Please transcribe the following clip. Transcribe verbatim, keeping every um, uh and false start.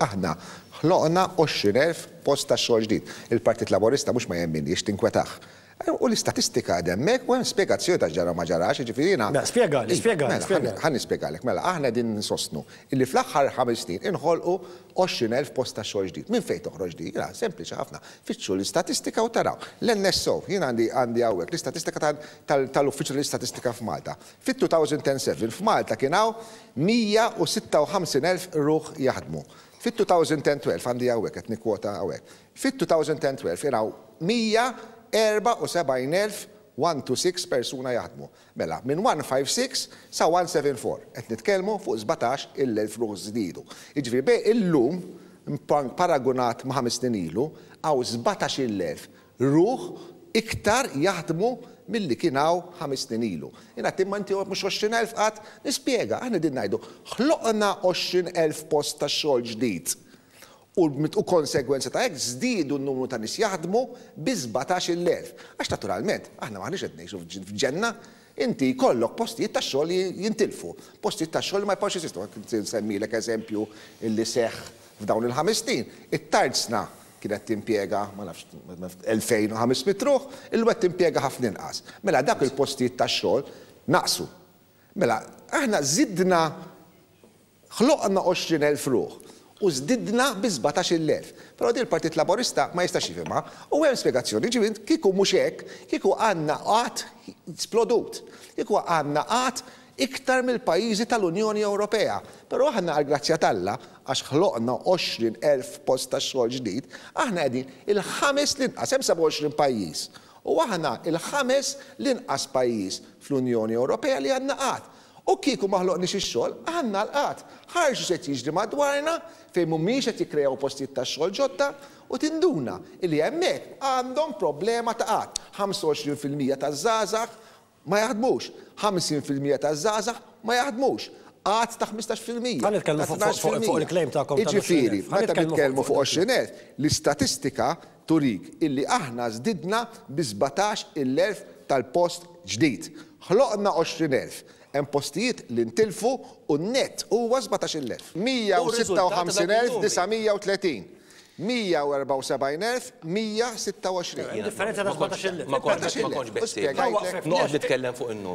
Aħna ħloqna għoxrin elf post ta' xogħol ġdid. Il-Partit Laburista mhux ma jemminniex, tinkwetah. U l-istatistika hemmhekk u hemm spjegazzjoni ta' ġara ma ġarax, jiġifieri jiena. Spjegali, spjegali, spjegali. Ħa nispjegalek, mela, aħna din nsostnu illi fl-aħħar ħames snin inħolqu għoxrin elf post ta' xogħol ġdid. Minn fejn toħroġ di? Jiena sempliċi ħafna. Fittxu l-istatistika u taraw. L-N S O, jien għandi għandi hawnhekk l-istatistika tal-Uffiċċju tal-Istatistika f'Malta. Fit-two thousand and seven f'Malta kien hawn mija u sitta u ħamsin elf ruħ jaħdmu. Fit-two thousand and twelve għandi hawnhekk qed nikkwota hawnhekk. Fit-two thousand and twelve kien hawn mija erba' u sebgħin elf one two six persuna jaħdmu. Mela, minn one five six sa one seven four. Qed nitkellmu fuq sbatax il-elf ruħ żdiedu. Jiġifieri bej illum paragunat ma' ħames snin ilu, hawn sbatax il-elf ruħ iktar jaħdmu milli kien hawn ħames snin ilu. Jiena imma inti mhux għoxrin elf qatt nispjega, aħna din ngħidu ħloqna għoxrin elf post ta' xogħol ġdid. U konsegwenza ta' hekk żdiedu n-numru ta' nies jaħdmu bi sbatax il-elf. Għax naturalment, aħna m'aħniex qed ngħixu f'ġenna, inti jkollok postijiet ta' xogħol li jintilfu, postijiet ta' xogħol li ma jibqgħux jeżistu. Nsemmilek eżempju illi seħħ f'dawn il-ħames snin. It-tarzna kienet timpjega, ma nafx, elfejn u ħames mitt ruħ, illum qed timpjega ħafna inqas. Mela dak il-postijiet ta' xogħol naqsu. Mela aħna żidna ħloqna għoxrin elf ruħ u żdidna bi sbatax il-elf. Però din il-Partit Laburista ma jistax jifhimha u hemm spjegazzjoni, ġifieri kieku mhux hekk, kieku għandna qatt splodut, kieku għandna qatt iktar mill-pajjiżi tal-Unjoni Ewropea. Però aħna għal grazzja t'Alla, għax ħloqna għoxrin elf post ta' xogħol ġdid, aħna qegħdin il-ħames l-inqas, hemm sebgħa u għoxrin pajjiż. U aħna il-ħames l-inqas pajjiż fl-Unjoni Ewropea li għandna qatt. U kieku ma ħloqniex ix-xogħol, għandna l-qatt. Ħarġu se jiġri madwarna fejn mhumiex qed jikkrejaw postijiet ta' xogħol ġodda u tinduna illi hemmhekk għandhom problema ta' qatt. ħamsa u għoxrin fil-mija taż-żgħażagħ ma jaħdmux, ħamsin fil-mija taż-żgħażagħ ma jaħdmux. Qatt ta' ħmistax fil-mija. Ħa nitkellmu ta' fuq, tnax fuq, fuq fil-mija. il-claim tagħkom ta' Jiġifieri, għoxrin elf. Ħa meta nitkellmu nitkellmu fuq fuq għoxrin elf, l-istatistika turik illi aħna żdidna bi sbatax il-elf tal-post ġdid. Ħloqna għoxrin elf. Hemm postijiet li ntilfu u n-net huwa sbatax il-elf. Mija u sitta u ħamsin elf disa' mija u tletin. Mija u erbgħa u sebgħin elf mija sitta u għoxrin. Differenza ta' sbatax il-elf. Ma kontx, ma kontx U spjegajtlek. Noqgħod nitkellem fuq in-numru.